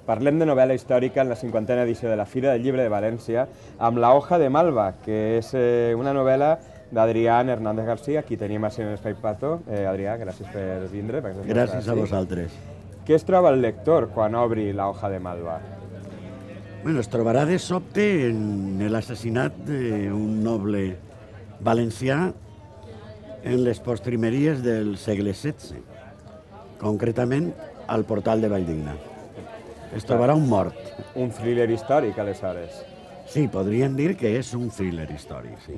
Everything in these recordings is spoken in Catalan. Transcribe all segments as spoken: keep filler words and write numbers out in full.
Parlem de novel·la històrica en la cinquantena edició de la Fira del Llibre de València amb La hoja de Malva, que és eh, una novel·la d'Adrián Hernández García, qui tenim així en l'Espai Pato. Eh, Adrià, gràcies per vindre. Gràcies a vosaltres. Què es troba el lector quan obri La hoja de Malva? Bueno, es trobarà de sobte en l'assassinat d'un noble valencià en les postrimeries del segle setze, concretament al portal de Valldigna. Es trobarà un mort. Un thriller històric, aleshores. Sí, podríem dir que és un thriller històric, sí.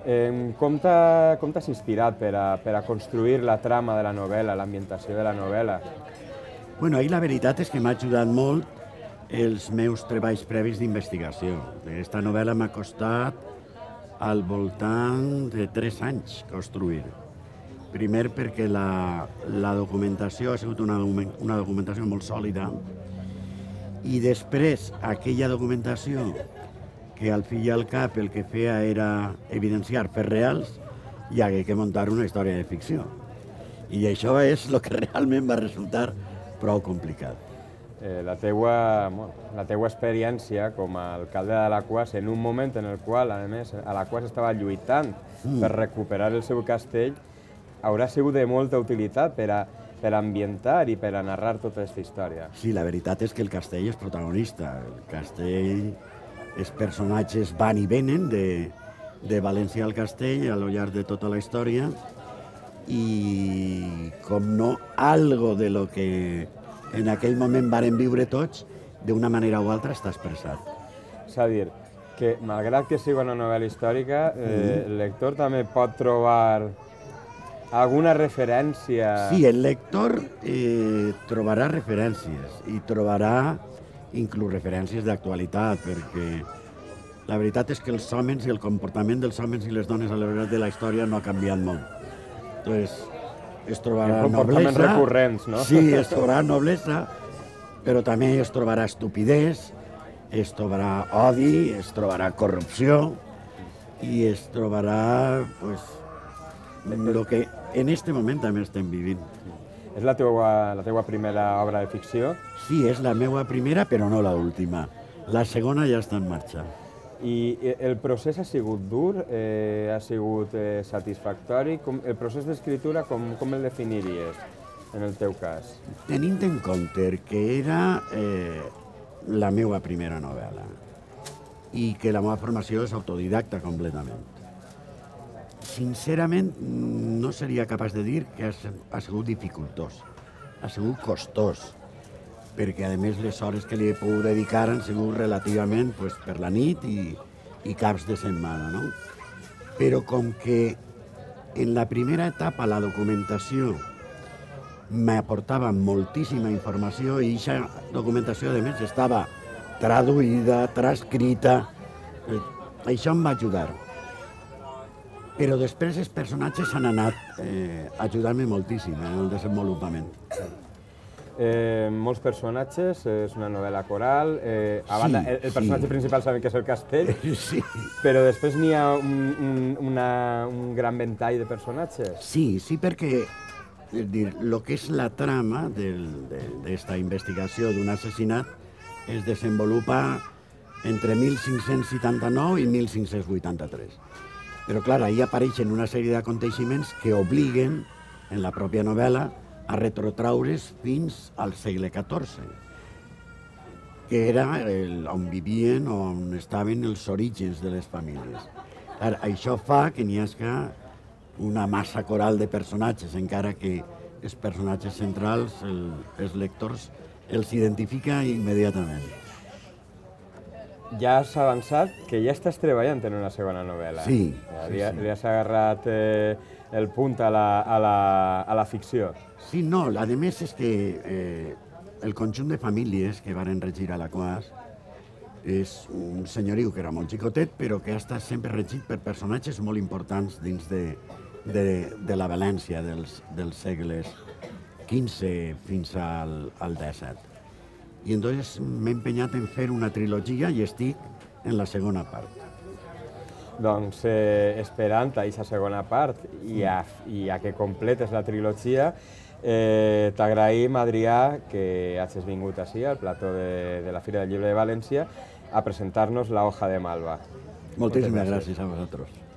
Eh, com t'has inspirat per a, per a construir la trama de la novel·la, l'ambientació de la novel·la? Bueno, ahir la veritat és que m'ha ajudat molt els meus treballs previs d'investigació. Aquesta novel·la m'ha costat al voltant de tres anys construir. Primer perquè la, la documentació ha sigut una, una documentació molt sòlida, i després aquella documentació que al fi i al cap el que feia era evidenciar fets reals, i hagué que muntar una història de ficció. I això és el que realment va resultar prou complicat. Eh, la, teua, la teua experiència com a alcalde d'Alaquàs, en un moment en el qual, a més, Alaquàs estava lluitant mm. per recuperar el seu castell, haurà sigut de molta utilitat per a per ambientar i per a narrar tota aquesta història. Sí, la veritat és que el castell és protagonista. El castell, els personatges van i venen de, de València al castell a lo llarg de tota la història, i, com no, algo de lo que en aquell moment varen viure tots, d'una manera o altra està expressat. És a dir, que malgrat que sigui una novel·la històrica, eh, el lector també pot trobar alguna referència... Sí, el lector eh, trobarà referències, i trobarà inclús referències d'actualitat, perquè la veritat és que els homes i el comportament dels homes i les dones a l'hora de la història no ha canviat molt. Entonces, es trobarà comportaments noblesa... recurrents, no? Sí, es trobarà noblesa, però també es trobarà estupidesa, es trobarà odi, es trobarà corrupció, i es trobarà, pues, el que en este moment també estem vivint. És la teua, la teua primera obra de ficció? Sí, és la meva primera, però no l'última. La segona ja està en marxa. I el procés ha sigut dur? Eh, ha sigut eh, satisfactori? Com, el procés d'escriptura, com, com el definiries, en el teu cas? Tenint en compte que era eh, la meva primera novel·la i que la meva formació és autodidacta completament, sincerament, no seria capaç de dir que ha sigut dificultós, ha sigut costós, perquè, a més, les hores que li he pogut dedicar han sigut relativament pues, per la nit i, i caps de setmana, no? Però com que en la primera etapa la documentació m'aportava moltíssima informació, i aquesta documentació, a més, estava traduïda, transcrita, això em va ajudar. Però després els personatges han anat eh, ajudant-me moltíssim en el desenvolupament. Eh, molts personatges, és una novel·la coral, eh, a banda, sí, el, el personatge sí. principal sabem que és el castell, sí. però després n'hi ha un, un, una, un gran ventall de personatges. Sí, sí, perquè el que és la trama d'aquesta investigació d'un assassinat es desenvolupa entre mil cinc-cents setanta-nou i mil cinc-cents vuitanta-tres. Però, clar, ahir apareixen una sèrie d'aconteixements que obliguen, en la pròpia novel·la, a retrotraure's fins al segle catorze, que era el, on vivien, on estaven els orígens de les famílies. Clar, això fa que n'hi hagi una massa coral de personatges, encara que els personatges centrals, el, els lectors, els identifica immediatament. Ja has avançat que ja estàs treballant en una segona novel·la. Sí. Ja li, sí, sí. li has agarrat eh, el punt a la, a, la, a la ficció. Sí, no, a més és que eh, el conjunt de famílies que varen regir a Alaquàs és un senyoriu que era molt xicotet, però que ha estat sempre regit per personatges molt importants dins de, de, de la València dels, dels segles quinze fins al, al disset. I entonces m'he empenyat en fer una trilogia i estic en la segona part. Doncs eh, esperant a aquesta segona part i a, i a que completes la trilogia, Eh, T'agraïm, Adrià, que hagis vingut així al plató de, de la Fira del Llibre de València a presentar-nos la hoja de Malva. Moltíssimes gràcies a vosaltres.